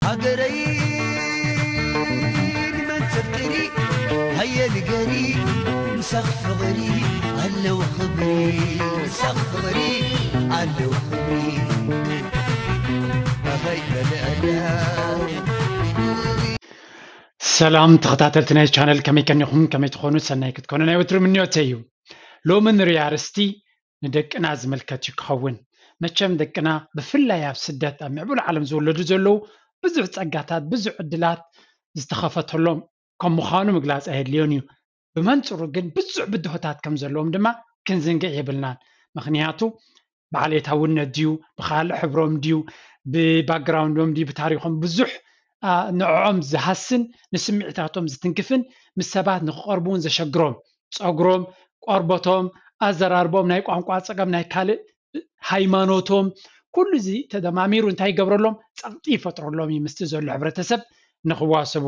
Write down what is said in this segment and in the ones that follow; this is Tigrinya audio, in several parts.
ሃገረይ ንመን ተፍቅሪ ሃየ ንገሪ ምሳኽ ፍቕሪ ኣለዎ ክብሪ ምሳኽ ፍቕሪ ኣለዎ ክብሪ ኣኸይ በልዕዳ ሰላም ተኸታተልቲ ናይ ቻነል፣ ከመይ ቀኒኹም? ከመይ ትኾኑ? ሰናይ ክትኮኑ ናይ ወትሩ ምንዮተይ እዩ። ሎሚ ንሪኦ ኣርእስቲ ንደቅና ዝምልከት እዩ ክኸውን። መቸም ደቅና ብፍላይ ኣብ ስደት ኣብ ምዕቡል ዓለም ዝወለዱ ዘለዉ ብዙሕ ጸጋታት ብዙሕ ዕድላት ዝተኸፈተሎም ከም ምዃኑ ምግላጽ ኣየድልዮን እዩ። ብመንጽሩ ግን ብዙሕ ብድሆታት ከም ዘለዎም ድማ ክንዝንግዕ የብልናን። ምኽንያቱ ብዓሌታውነት ድዩ ብኻልእ ሕብሮም ድዩ ብባክግራውንዶም ድዩ ብታሪኾም ብዙሕ ንዕኦም ዝሃስን ንስምዒታቶም ዝትንክፍን ምስ ሰባት ንክቐርቡ እውን ዘሸግሮም ጸጉሮም ቆርበቶም ኣዘራርቦም ናይ ቋንቋ ጸገም ናይ ካልእ ሃይማኖቶም ኩሉ እዚ ተደማሚሩ እንታይ ይገብረሎም ጸቕጢ ይፈጥረሎም እዩ ምስቲ ዘሎ ሕብረተሰብ ንክዋሰቡ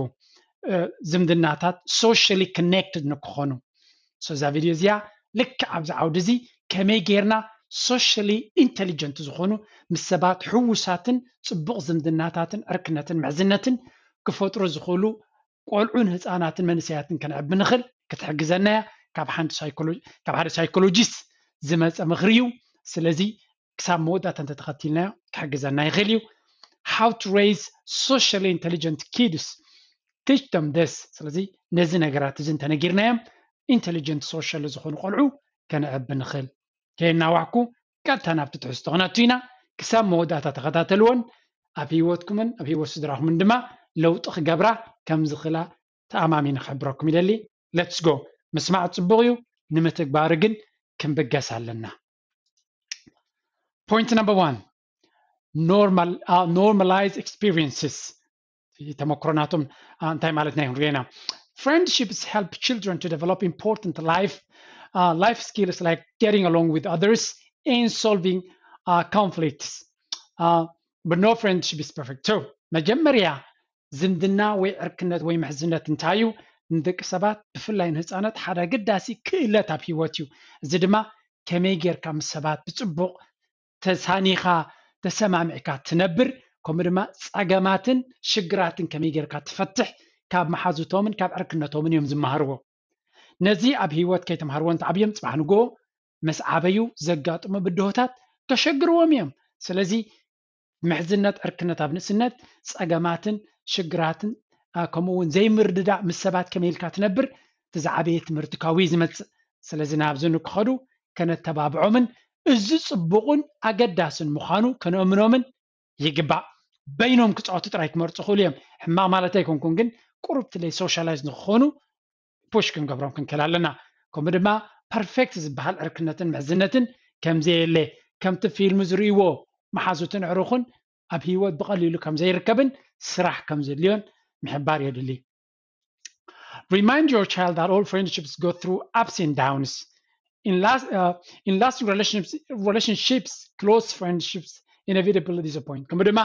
ዝምድናታት socially connected ንክኾኑ እዛ ቪድዮ እዚኣ ልክዕ ኣብዚ ዓውዲ እዚ ከመይ ጌርና socially intelligent ዝኾኑ ምስ ሰባት ሕውሳትን ፅቡቕ ዝምድናታትን ዕርክነትን ምሕዝነትን ክፈጥሩ ዝኽእሉ ቆልዑን ህፃናትን መንእሰያትን ከነዕቢ ንኽእል ክትሕግዘና እያ። ካብ ሓደ ሳይኮሎጂስት ዝመፀ ምኽሪ እዩ። ስለዚ ክሳብ መወዳእታ እንተተኸቲልናዮ ክሕግዘና ይኽእል እዩ። How to raise socially intelligent kids, teach them this. ስለዚ ነዚ ነገራት እዚ እንተነጊርናዮም intelligent social ዝኾኑ ቆልዑ ከነዕቢ ንኽእል። ከየናዋሕኩ ቀጥታ ናብቲ ትሕዝቶ ክነቱ ኢና። ክሳብ መወዳእታ ተኸታተልዎን ኣብ ህይወትኩምን ኣብ ህይወት ስድራኹምን ድማ ለውጢ ክገብራ ከም ዝኽእላ ተኣማሚነ ክሕብረኩም ይደሊ። Let's go። ምስማዕ ጽቡቕ እዩ፣ ንምትግባሩ ግን ክንብገስ ኣለና። Point number one, normal, uh, normalize experiences. ተመክሮናቶም እንታይ ማለት ናይ ሪና Friendships help children to develop important life uh, life skills like getting along with others and solving uh, conflicts. Uh, but no friendship is perfect. So መጀመርያ ዝምድና ወይ ዕርክነት ወይ ምሕዝነት እንታይ እዩ? ንደቂ ሰባት ብፍላይ ንህፃናት ሓደ ኣገዳሲ ክእለት ኣብ ህይወት እዩ። እዚ ድማ ከመይ ጌርካ ምስ ሰባት ብፅቡቕ ተሳኒኻ ተሰማሚዕካ ትነብር፣ ከምኡ ድማ ፀገማትን ሽግራትን ከመይ ጌርካ ትፈትሕ ካብ መሓዙቶምን ካብ ዕርክነቶምን እዮም ዝመሃርዎ። ነዚ ኣብ ህይወት ከይተምሃርዎ እንተዓብዮም ፅባሕ ንግሆ ምስ ዓበዩ ዘጋጥሙ ብድሆታት ከሸግርዎም እዮም። ስለዚ ምሕዝነት ዕርክነት ኣብ ንእስነት ፀገማትን ሽግራትን ከምኡ እውን ዘይምርድዳእ ምስ ሰባት ከመይ ኢልካ ትነብር እቲ ዝዓበየ ትምህርቲ ካብኡ እዩ ዝመፅእ። ስለዚ ናብዚ ንክኸዱ ከነተባብዖምን እዚ ፅቡቕን ኣገዳስን ምዃኑ ከነእምኖምን ይግባእ። በይኖም ክፃወቱ ጥራይ ክመርፁ ክእሉ እዮም። ሕማቕ ማለት ኣይኮንኩን፣ ግን ቁሩብ ትለይ ሶሻላይዝ ንክኾኑ ፑሽ ክንገብሮም ክንክእል ኣለና። ከምኡ ድማ ፐርፌክት ዝበሃል ዕርክነትን ምሕዝነትን ከምዘየለ ከምቲ ፊልም ዝርእይዎ መሓዙትን ዕሩኹን ኣብ ህይወት ብቐሊሉ ከም ዘይርከብን ስራሕ ከም ዘድልዮን ምሕባር የድሊ። Remind your child that all friendships go through ups and downs. In, last, uh, in lasting relationships, relationships, close friendships inevitably disappoint. ከምኡ ድማ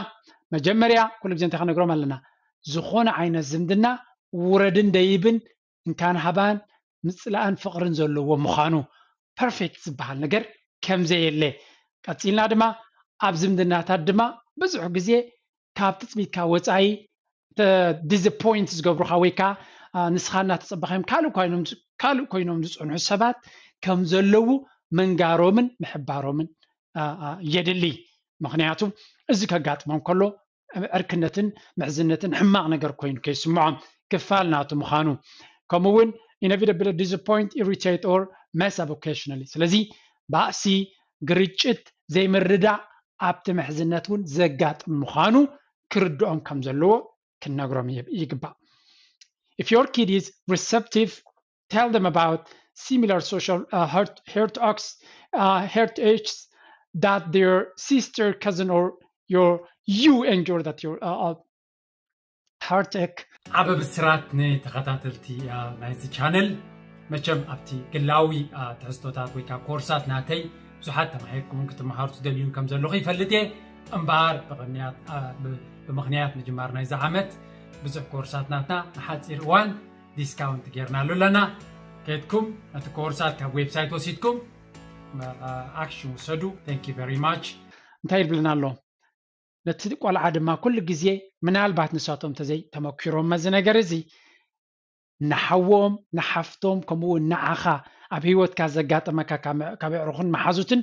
መጀመርያ ኩሉ ግዜ እንታይ ከነግሮም ኣለና? ዝኾነ ዓይነት ዝምድና ውረድን ደይብን እንካን ሃባን ምፅላእን ፍቕርን ዘለዎ ምዃኑ ፐርፌክት ዝበሃል ነገር ከምዘየለ ቀፂልና ድማ ኣብ ዝምድናታት ድማ ብዙሕ ግዜ ካብ ትፅቢትካ ወፃኢ ዲስፖይንት ዝገብሩካ ወይ ከዓ ንስኻ እናተፀበኻዮም ካልእ ኮይኖም ዝፅንሑ ሰባት ከም ዘለዉ ምንጋሮምን ምሕባሮምን የድሊ። ምክንያቱ እዚ ከጋጥሞም ከሎ ዕርክነትን ምሕዝነትን ሕማቕ ነገር ኮይኑ ከይስምዖም ክፋል ናቱ ምዃኑ ከምኡ እውን inevitable disappoint irritate or mess up occasionally ስለዚ ባእሲ ግርጭት ዘይምርዳእ ኣብቲ ምሕዝነት እውን ዘጋጥም ምዃኑ ክርድኦም ከም ዘለዎ ክንነግሮም ይግባእ። If your kid is receptive, tell them about similar social uh, hurt, hurt acts, uh, hurt acts that their sister, cousin, or your you endure that your uh, heartache. ዓበ ብስራት ንተኸታተልቲ ናይዚ ቻነል። መቸም ኣብቲ ግላዊ ትሕዝቶታት ወይ ከዓ ኮርሳት ናተይ ብዙሓት ተማሂርኩምን ክትመሃሩ ትደልዩን ከም ዘለኹ ይፈልጥ እየ። እምበኣር ብቕንያት ብምኽንያት ምጅማር ናይዚ ዓመት ብዙሕ ኮርሳት ናትና ንሓፂር እዋን ዲስካውንት ጌርናሉ ኣለና። ከድኩም ነቲ ኮርሳት ካብ ዌብሳይት ወሲድኩም ኣክሽን ውሰዱ። Thank you very much። እንታይ ይብልና ኣሎ? ነቲ ቆልዓ ድማ ኩሉ ግዜ ምናልባት ንሳቶም ተዘይ ተመኪሮም እዚ ነገር እዚ ንሓዎም ንሓፍቶም ከምኡ እውን ንዓኻ ኣብ ህይወትካ ዘጋጠመካ ካብ ኣዕሩኽን መሓዙትን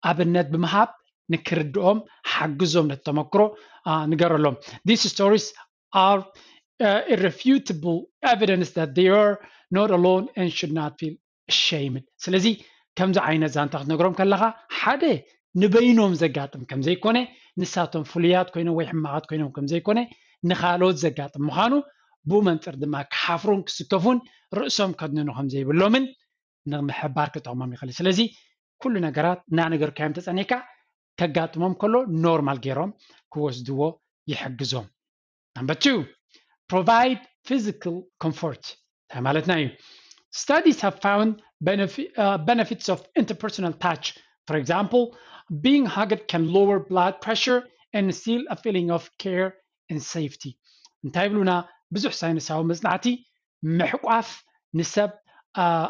ኣብነት ብምሃብ ንክርድኦም ሓግዞም ነቲ ተመክሮ ንገረሎም። These stories are uh, irrefutable evidence that they are not alone and should not feel ashamed. ስለዚ ከምዚ ዓይነት ዛንታ ክትነግሮም ከለኻ ሓደ ንበይኖም ዘጋጥም ከምዘይኮነ ንሳቶም ፍሉያት ኮይኖም ወይ ሕማቓት ኮይኖም ከምዘይኮነ ንኻልኦት ዘጋጥም ምዃኑ ብኡ መንፅር ድማ ክሓፍሩን ክስከፉን ርእሶም ከድንኑ ከምዘይብሎምን ንምሕባር ክጠቕሞም ይኽእል እዩ። ስለዚ ኩሉ ነገራት እናነገርካዮም ተፀኒሕካ ከጋጥሞም ከሎ ኖርማል ገይሮም ክወስድዎ ይሕግዞም። Number two, provide physical comfort. እንታይ ማለትና እዩ? Studies have found benefit, uh, benefits of interpersonal touch. For example, being hugged can lower blood pressure and instill a feeling of care and safety. እንታይ ይብሉና? ብዙሕ ሳይንሳዊ መፅናዕቲ ምሕቋፍ ንሰብ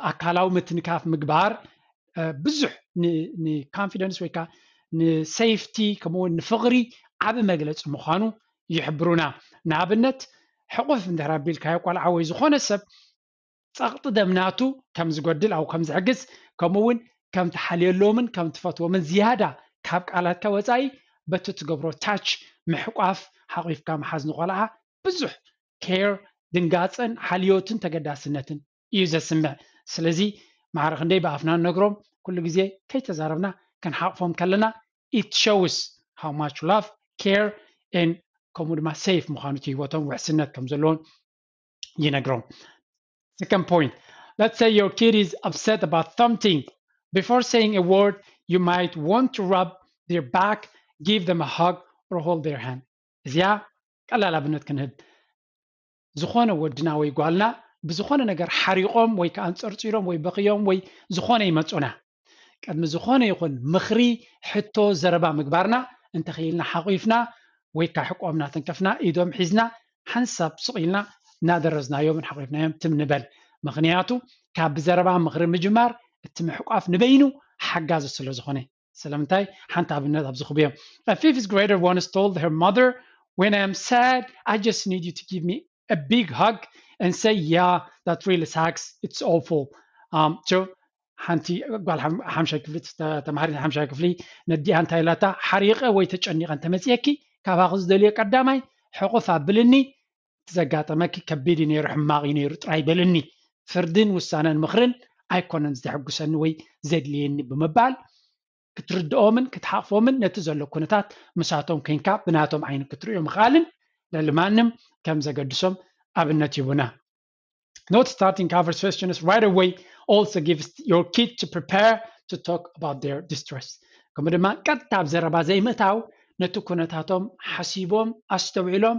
ኣካላዊ ምትንካፍ ምግባር ብዙሕ ንኮንፊደንስ ወይ ከዓ ንሴፍቲ ከምኡውን ንፍቕሪ ዓብ መግለፂ ምዃኑ ይሕብሩና። ንኣብነት ሕቑፍ እንድሕር ኣቢልካዮ ቆልዓ ወይ ዝኾነ ሰብ ፀቕጢ ደም ናቱ ከም ዝጎድል ኣብ ከም ዝሕግዝ ከምኡውን ከም ትሓልየሎምን ከም ትፈትዎምን ዝያዳ ካብ ቃላትካ ወፃኢ በቲ ትገብሮ ታች ምሕቋፍ ሓቒፍካ ምሓዝ ንቆልዓ ብዙሕ ኬር ድንጋፀን ሓልዮትን ተገዳስነትን እዩ ዘስምዕ። ስለዚ ማዕረ ክንደይ ብኣፍና ንነግሮም ኩሉ ግዜ ከይተዛረብና ክንሓቕፎም ከለና it shows how much love care and ከምኡ ድማ ሴፍ ምዃኑ እቲ ህይወቶም ውሕስነት ከም ዘለዎም ይነግሮም። Second point, let's say your kid is upset about something. Before saying a word, you might want to rub their back, give them a hug, or hold their hand. እዚኣ ቀላል ኣብነት ክንህብ፣ ዝኾነ ወድና ወይ ጓልና ብዝኾነ ነገር ሓሪቖም ወይ ከዓ ኣንፀርፂሮም ወይ በኽዮም ወይ ዝኾነ ይመፁና፣ ቅድሚ ዝኾነ ይኹን ምኽሪ፣ ሕቶ፣ ዘረባ ምግባርና እንተኽኢልና ሓቑፍና ወይ ከዓ ሕቆም እናተንከፍና ኢዶም ሒዝና ሓንሳብ ስቕ ኢልና እናደረዝናዮምን ሓቑፍናዮም ትም ንበል። ምኽንያቱ ካብ ብዘረባ ምኽሪ ምጅማር እቲ ምሕቋፍ ንበይኑ ሓጋዚ ስለ ዝኾነ። ስለምንታይ? ሓንቲ ኣብነት ኣብዚ ክብዮም። A fifth grader once told her mother, when I am sad, I just need you to give me a big hug and say, yeah, that really sucks, it's awful. Um, so ሓንቲ ጓል ሓምሻይ ክፍሊ ተማሃሪት ሓምሻይ ክፍሊ ነዲኣ እንታይ ኢላታ? ሓሪቐ ወይ ተጨኒቐ እንተመፅየኪ ካባኺ ዝደልዮ ቀዳማይ ሕቑፍ ኣብልኒ፣ እቲ ዘጋጠመኪ ከቢድ እዩ ነይሩ፣ ሕማቕ እዩ ነይሩ ጥራይ በልኒ። ፍርድን ውሳነን ምኽርን ኣይኮነን ዘሕጉሰኒ ወይ ዘድልየኒ ብምባል ክትርድኦምን ክትሓቕፎምን ነቲ ዘሎ ኩነታት ምሳቶም ኮይንካ ብናቶም ዓይኒ ክትርእዮ ምኽኣልን ልዕሊ ማንም ከም ዘገድሶም ኣብነት ይቡና። Not starting conversations right away also gives your kid to prepare to talk about their distress. ከምኡ ድማ ቀጥታ ኣብ ዘረባ ዘይምእታው ነቲ ኩነታቶም ሓሲቦም ኣስተውዒሎም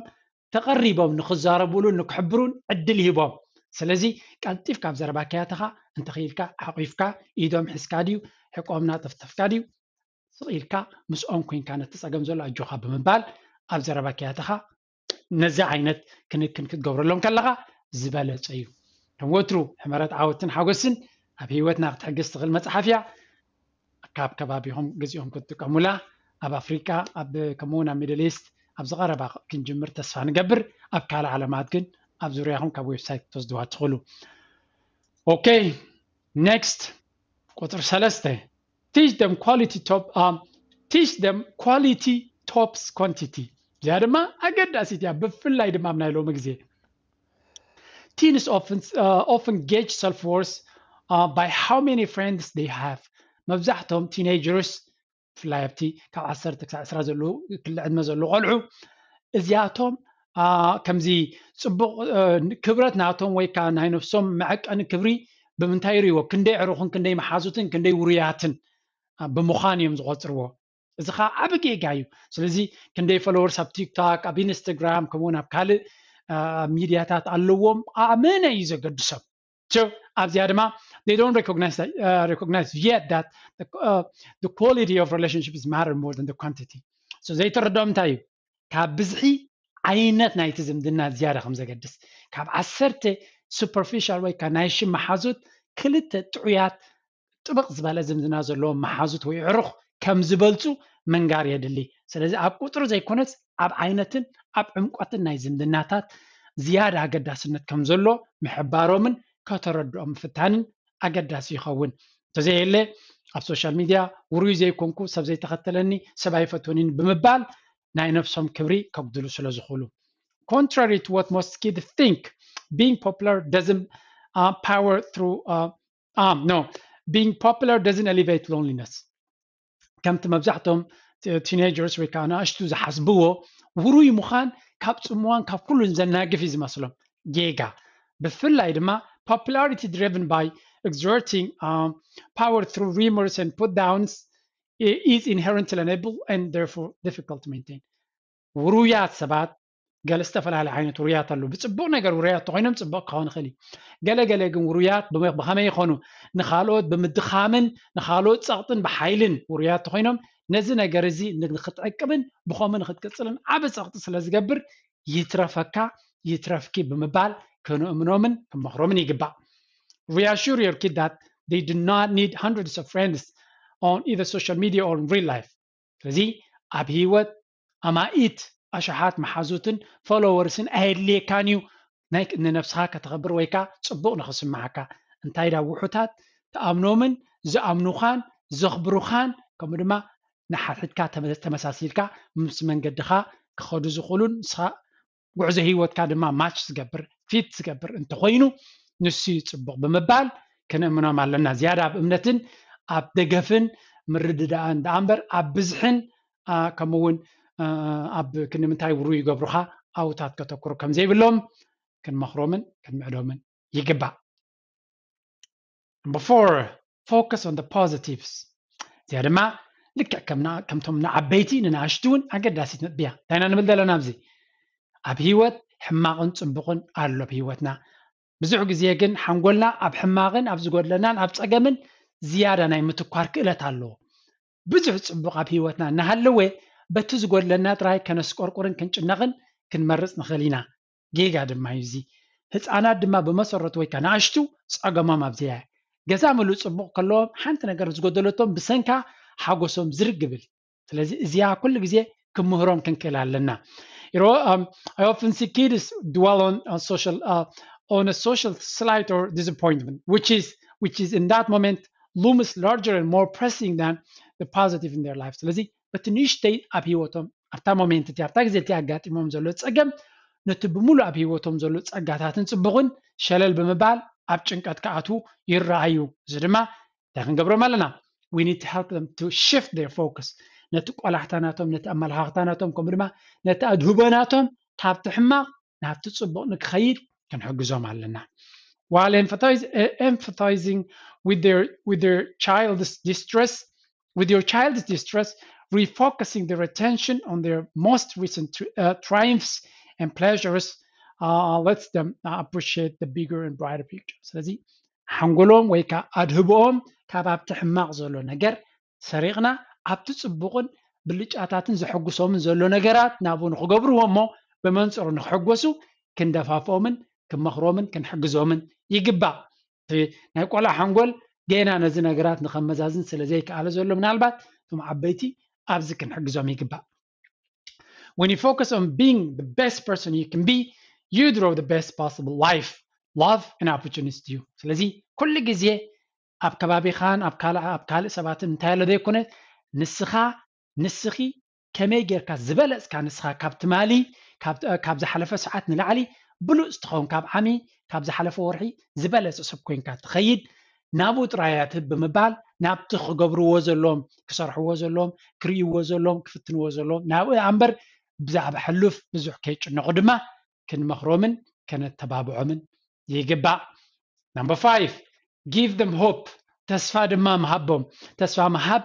ተቐሪቦም ንክዛረቡሉን ንክሕብሩን ዕድል ይህቦም። ስለዚ ቀልጢፍካ ኣብ ዘረባ ከያተኻ እንተኽኢልካ ሓቑፍካ ኢዶም ሒዝካ ድዩ ሕቆምና ጠፍጠፍካ ድዩ ስቕ ኢልካ ምስኦም ኮይንካ ነቲ ፀገም ዘሎ ኣጆኻ ብምባል ኣብ ዘረባ ከያተኻ ነዚ ዓይነት ክንክን ክትገብረሎም ከለኻ ዝበለፀ እዩ። ከም ወትሩ ሕመረት ዓወትን ሓጎስን ኣብ ህይወትና ክትሕግዝ ትኽእል መፅሓፍ እያ። ካብ ከባቢኹም ገዚኦም ክትጥቀሙላ ኣብ ኣፍሪቃ ኣብ ከምኡውን ኣብ ሚድል ኢስት ኣብ ዝቐረባ ክንጅምር ተስፋ ንገብር። ኣብ ካልእ ዓለማት ግን ኣብ ዙርያኹም ካብ ዌብሳይት ክትወስድዋ ትኽእሉ። ኦኬ፣ ኔክስት ቁፅሪ ሰለስተ teach them quality top um, teach them quality tops quantity። እዚኣ ድማ ኣገዳሲት እያ፣ ብፍላይ ድማ ኣብ ናይ ሎሚ ግዜ teens often, uh, often gauge self-worth uh, by how many friends they have. መብዛሕቶም ቲኔጀርስ ብፍላይ ኣብቲ ካብ ዓሰርተ ክሳብ ዕስራ ዘለዉ ክሊ ዕድመ ዘለዉ ቆልዑ እዚኣቶም ከምዚ ፅቡቕ ክብረት ናቶም ወይ ከዓ ናይ ነፍሶም መዐቀኒ ክብሪ ብምንታይ ይርእይዎ? ክንደይ ዕሩኽን ክንደይ መሓዙትን ክንደይ ውሩያትን ብምዃን እዮም ዝቆፅርዎ። እዚ ከዓ ዓብ ጌጋ እዩ። ስለዚ ክንደይ ፎሎወርስ ኣብ ቲክቶክ ኣብ ኢንስታግራም ከምኡውን ኣብ ካልእ ሚድያታት ኣለዎም ኣመነ እዩ ዘገድሶም። So ኣብዚኣ ድማ they don't recognize, uh, recognize yet that the, uh, the quality of relationship is matter more than the quantity. So ዘይተረድኦም እንታይ እዩ? ካብ ብዝሒ ዓይነት ናይቲ ዝምድና ዝያዳ ከም ዘገድስ፣ ካብ ዓሰርተ ሱፐርፊሻል ወይ ከዓ ናይ ሽም መሓዙት ክልተ ጥዑያት ጥብቕ ዝበለ ዝምድና ዘለዎም መሓዙት ወይ ዕሩኽ ከም ዝበልፁ ምንጋር የድሊ። ስለዚ ኣብ ቁፅሪ ዘይኮነስ ኣብ ዓይነትን ኣብ ዕምቆትን ናይ ዝምድናታት ዝያዳ ኣገዳስነት ከም ዘሎ ምሕባሮምን ከተረድኦም ምፍታንን ኣገዳሲ ይኸውን። እንተዘየለ ኣብ ሶሻል ሚድያ ውሩይ ዘይኮንኩ ሰብ ዘይተኸተለኒ ሰብ ኣይፈትወኒን ብምባል ናይ ነብሶም ክብሪ ከጉድሉ ስለ ዝኽእሉ። Contrary to what most kids think, being popular doesn't uh, power through uh, um, no, being popular doesn't elevate loneliness. ከምቲ መብዛሕቶም ቲኔጀርስ ወይ ከዓ ንኣሽቱ ዝሓስብዎ ውሩይ ምዃን ካብ ፅምዋን ካብ ኩሉን ዘናግፍ እዩ ዝመስሎም። ጌጋ። ብፍላይ ድማ popularity driven by exerting um, power through rumors and put downs is inherently unable and therefore difficult to maintain. ውሩያት ሰባት ገለ ዝተፈላለዩ ዓይነት ውሩያት ኣለዉ። ብፅቡቕ ነገር ውሩያት ተኾይኖም ፅቡቕ ክኸውን ይኽእል እዩ። ገለ ገለ ግን ውሩያት ብመ- ብኸመይ ይኾኑ? ንኻልኦት ብምድኻምን ንኻልኦት ፀቕጥን ብሓይልን ውሩያት ተኾይኖም ነዚ ነገር እዚ ንክትዕቅብን ብኸምኡ ንክትቅፅልን ዓቢ ፀቕጢ ስለ ዝገብር ይትረፈካ ይትረፍኪ ብምባል ከነእምኖምን ክንመኽሮምን ይግባእ። Reassure your kid that they do not need hundreds of friends on either social media or in real life. ስለዚ ኣብ ህይወት ኣማኢት ኣሽሓት መሓዙትን ፎሎወርስን ኣየድልየካን እዩ ናይ ንነብስኻ ከተኸብር ወይ ከዓ ፅቡቕ ንኽስምዓካ። እንታይ ዳ ውሑታት ትኣምኖምን ዝኣምኑኻን ዘኽብሩኻን ከምኡ ድማ ንሓድሕድካ ተመ- ተመሳሲልካ ምስ መንገድኻ ክኸዱ ዝኽእሉን ንስኻ ጉዕዞ ህይወትካ ድማ ማች ዝገብር ፊት ዝገብር እንተኾይኑ ንሱ እዩ ፅቡቕ ብምባል ክንእምኖም ኣለና። ዝያዳ ኣብ እምነትን ኣብ ደገፍን ምርድዳእን ደኣ እምበር ኣብ ብዝሕን ከምኡ እውን ኣብ ክንዲ ምንታይ ውሩይ ይገብሩኻ ኣብኡታት ከተኩሩ ከም ዘይብሎም ክንመኽሮምን ክንምዕዶምን ይግባእ። Number four, focus on the positives. እዚኣ ድማ ልክዕ ከምና- ከምቶም ንዓበይቲ ንንኣሽቱ እውን ኣገዳሲት ነጥቢ እያ። እንታይ ኢና ንብል ዘለና ኣብዚ? ኣብ ህይወት ሕማቕን ፅቡቕን ኣሎ ኣብ ህይወትና። ብዙሕ ግዜ ግን ሓንጎልና ኣብ ሕማቕን ኣብ ዝጎድለናን ኣብ ፀገምን ዝያዳ ናይ ምትኳር ክእለት ኣለዎ። ብዙሕ ፅቡቕ ኣብ ህይወትና እናሃለወ በቲ ዝጎድለና ጥራይ ከነስቆርቁርን ክንጭነቕን ክንመርፅ ንኽእል ኢና። ጌጋ ድማ እዩ እዚ። ህፃናት ድማ ብመሰረቱ ወይ ከዓ ንኣሽቱ ፀገሞም ኣብዚኣ እያ። ገዛ ምሉእ ፅቡቕ ከለዎም ሓንቲ ነገር ዝጎደለቶም ብሰንካ ሓጎሶም ዝርግ ይብል። ስለዚ እዚኣ ኩሉ ግዜ ክምህሮም ክንክእል ኣለና። You know, um, I often see kids dwell on, on social uh, on a social slight or disappointment, which is which is in that moment looms larger and more pressing than the positive in their life. ስለዚ በቲ ንእሽተይ ኣብ ህይወቶም ኣብታ ሞሜንት እቲ ኣብታ ግዜ እቲ ኣጋጢሞም ዘሎ ፀገም ነቲ ብምሉእ ኣብ ህይወቶም ዘሎ ፀጋታትን ፅቡቕን ሸለል ብምባል ኣብ ጭንቀት ክኣትዉ ይረኣዩ። እዚ ድማ እንታይ ክንገብሮም ኣለና? We need to help them to shift their focus። ነቲ ቆላሕታ ናቶም፣ ነቲ ኣመለኻኽታ ናቶም፣ ከምኡ ድማ ነቲ ኣድህቦ ናቶም ካብቲ ሕማቕ ናብቲ ጽቡቕ ንክኸይድ ክንሕግዞም ኣለና። While emphasize- eh, emphasizing with their with their child's distress, with your child's distress, refocusing their attention on their most recent tri- uh, triumphs and pleasures uh, lets them uh, appreciate the bigger and brighter picture. ስለዚ ሓንጎሎም ወይ ከዓ ኣድህቦኦም ካብ ኣብቲ ሕማቕ ዘሎ ነገር ሰሪቕና ኣብቲ ጽቡቕን ብልጫታትን ዘሐጉሶምን ዘሎ ነገራት ናብኡ ንክገብርዎ እሞ ብመንፅሩ ንክሕጎሱ ክንደፋፍኦምን ክንመኽሮምን ክንሕግዞምን ይግባእ። እቲ ናይ ቆልዓ ሓንጎል ገና ነዚ ነገራት ንኸመዛዝን ስለ ዘይከኣለ ዘሎ ምናልባት እቶም ዓበይቲ ኣብዚ ክንሕግዞም ይግባእ። When you focus on being the best person you can be, you draw the best possible life, love and opportunities to you. ስለዚ ኩሉ ግዜ ኣብ ከባቢኻን ኣብ ካልእ ኣብ ካልእ ሰባትን እንታይ ኣሎ ዘይኮነ ንስኻ ንስኺ ከመይ ጌርካ ዝበለፅካ ንስኻ ካብ ትማሊ ካብ ዝሓለፈ ሰዓት ንላዕሊ ብሉፅ ትኸውን ካብ ዓሚ ካብ ዝሓለፈ ወርሒ ዝበለፀ ሰብ ኮይንካ ትኸይድ ናብኡ ጥራይ እያ ትህብ ብምባል ናብቲ ክገብርዎ ዘለዎም ክሰርሕዎ ዘለዎም ክርእይዎ ዘለዎም ክፍትንዎ ዘለዎም ናብኡ እያ እምበር ብዛዕባ ሕሉፍ ብዙሕ ከይጭነቑ ድማ ክንመኽሮምን ከነተባብዖምን ይግባእ። Number five, give them hope. ተስፋ ድማ ምሃቦም። ተስፋ ምሃብ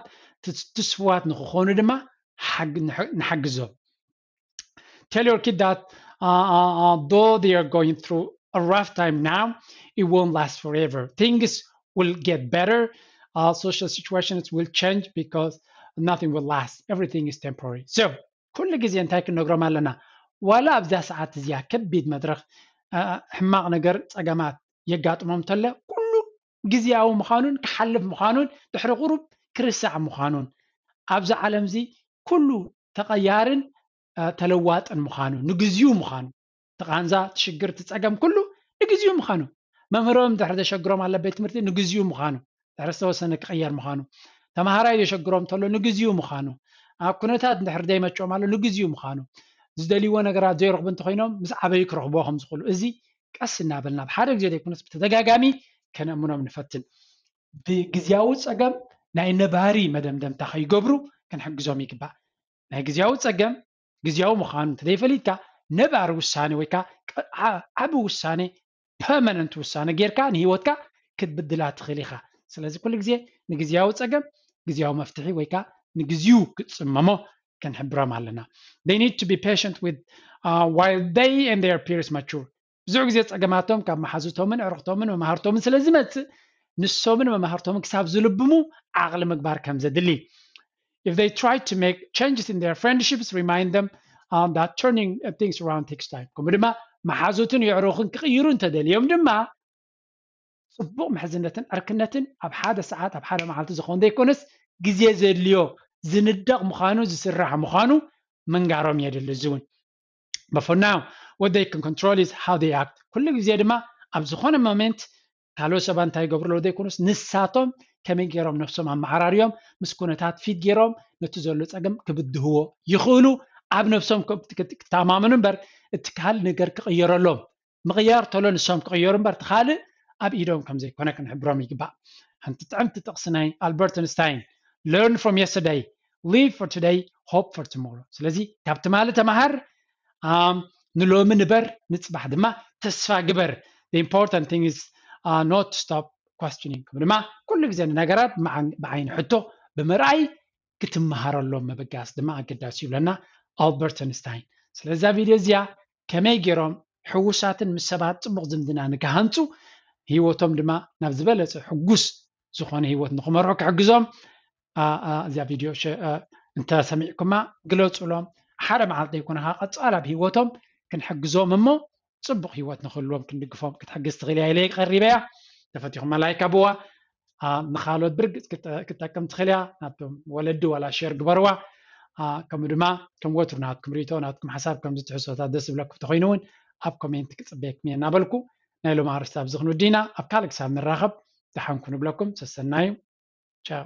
ትስፉዋት ንክኾኑ ድማ ንሓግዞም። Tell your kid that uh, uh, though they are going through a rough time now, it won't last forever. Things will get better. Uh, social situations will change because nothing will last. Everything is temporary. So ኩሉ ግዜ እንታይ ክንነግሮም ኣለና? ዋላ ኣብዛ ሰዓት እዚኣ ከቢድ መድረኽ ሕማቕ ነገር ፀገማት የጋጥሞም እንተለ ኩሉ ግዜያዊ ምዃኑን ክሓልፍ ምዃኑን ድሕሪ ቁሩብ ክርስዕ ምዃኑን ኣብዚ ዓለም እዚ ኩሉ ተቐያርን ተለዋጥን ምዃኑ፣ ንግዚኡ ምዃኑ፣ ተቓንዛ ትሽግር ትጸገም ኩሉ ንግዚኡ ምዃኑ፣ መምህሮም ድሕሪ ዘሸግሮም ኣሎ ቤት ትምህርቲ ንግዚኡ ምዃኑ፣ ድሕሪ ዝተወሰነ ክቕየር ምዃኑ፣ ተምሃራይ ዘሸግሮም ተሎ ንግዚኡ ምዃኑ፣ ኣብ ኩነታት ድሕሪ ዘይመቸኦም ኣሎ ንግዚኡ ምዃኑ፣ ዝደልይዎ ነገራት ዘይረኽቡ እንተኮይኖም ምስ ዓበዩ ክረኽብዎ ከም ዝኽእሉ፣ እዚ ቀስ እናበልና ብሓደ ግዜ ዘይኮነስ ብተደጋጋሚ ከነእምኖም ንፈትን። ብግዝያዊ ጸገም ናይ ነባሪ መደምደምታ ከይገብሩ ክንሕግዞም ይግባእ። ናይ ግዝያዊ ጸገም ግዝያዊ ምዃኑ እንተዘይፈሊጥካ ነባሪ ውሳኔ ወይ ከዓ ዓቢ ውሳኔ ፐርማነንት ውሳነ ጌርካ ንህይወትካ ክትብድላ ትኽእል ኢኻ። ስለዚ ኩሉ ግዜ ንግዝያዊ ጸገም ግዝያዊ መፍትሒ ወይ ከዓ ንግዚኡ ክትጽመሞ ክንሕብሮም ኣለና። They need to be patient with uh, while they and their peers mature. ብዙሕ ግዜ ጸገማቶም ካብ መሓዙቶምን ዕርኽቶምን መማህርቶምን ስለ ዝመጽእ ንሶምን መማህርቶምን ክሳብ ዝልብሙ ዓቕሊ ምግባር ከም ዘድሊ If they try to make changes in their friendships, remind them um, that turning uh, things around takes time. ከምኡ ድማ መሓዙትን የዕሩኽን ክቕይሩ እንተደልዮም ድማ ጽቡቕ ምሕዝነትን ዕርክነትን ኣብ ሓደ ሰዓት ኣብ ሓደ መዓልቲ ዝኾን ዘይኮነስ ግዜ ዘድልዮ ዝንደቕ ምዃኑ ዝስራሕ ምዃኑ ምንጋሮም የድሊ። እዚ እውን But for now, what they can control is how they act. ኩሉ ግዜ ድማ ኣብ ዝኾነ ሞሜንት ካልኦት ሰባት እንታይ ይገብሩ ኣለዉ ዘይኮኑስ ንሳቶም ከመይ ገይሮም ነብሶም ኣመዓራርዮም ምስ ኩነታት ፊት ገይሮም ነቲ ዘሎ ጸገም ክብድህዎ ይኽእሉ። ኣብ ነብሶም ክተማመኑ እምበር እቲ ካልእ ነገር ክቕየረሎም ምቕያር ተሎ ንሶም ክቕየሩ እምበር እቲ ካልእ ኣብ ኢዶም ከም ዘይኮነ ክንሕብሮም ይግባእ። ሓንቲ ጥዕምቲ ጥቕሲ ናይ ኣልበርት ኣንስታይን Learn from yesterday, live for today, hope for tomorrow። ስለዚ ካብ ትማሊ ተማሃር፣ ንሎሚ ንበር፣ ንጽባሕ ድማ ተስፋ ግበር። The important thing is uh, not to stop questioning። ከም ድማ ኩሉ ግዜ ንነገራት ብዓይኒ ሕቶ ብምርኣይ ክትመሃረሎም ምብጋስ ድማ ኣገዳሲ ይብለና ኣልበርት ኣንስታይን። ስለዛ ቪድዮ እዚኣ ከመይ ገይሮም ሕውሳትን ምስ ሰባት ጽቡቕ ዝምድና ንክሃንጹ ህይወቶም ድማ ናብ ዝበለጸ ሕጉስ ዝኾነ ህይወት ንክመርሑ ክሕግዞም እዚኣ ቪድዮ እንተሰሚዕኩማ ግለፁሎም። ሓደ መዓልቲ ዘይኮነ ከዓ ቀፃል ኣብ ህይወቶም ክንሕግዞም እሞ ፅቡቕ ህይወት ንክህልዎም ክንድግፎም ክትሕግዝ ትኽእል እያ ኢለ ቀሪበያ። ተፈቲኹማ ላይክ ኣብዋ። ንካልኦት ብርግፅ ክትጠቅም ትኽእል እያ። ናብቶም ወለዲ ዋላ ሼር ግበርዋ። ከምኡ ድማ ከም ወትሩ ናትኩም ርእቶ ናትኩም ሓሳብ ከምዚ ትሕዝቶታት ደስ ዝብለኩም ተኮይኑ እውን ኣብ ኮሜንት ክፅበየኩም እየ እናበልኩ ናይ ሎም ኣርስቲ ኣብዚ ክንውዲ ኢና። ኣብ ካልእ ክሳብ ንራኸብ ደሓንኩ ንብለኩም። ሰሰናዩ። ቻው።